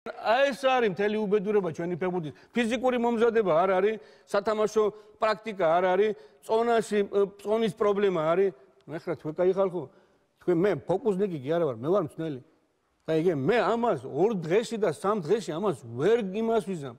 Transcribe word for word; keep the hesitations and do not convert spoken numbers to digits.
აი ეს არის მთელი უბედურება ჩვენი ფეხბურთის. ფიზიკური მომზადება არ არის, სათამაშო პრაქტიკა არ არის, წონაში წონის პრობლემა არის. მე ხრა თქვენ კაი ხალხო. თქვენ მე ფოკუსნიკი კი არა ვარ, მე ვარ მწნელი. აი იგი მე ამას ორ დღეში და სამ დღეში ამას ვერ იმას ვიზამ.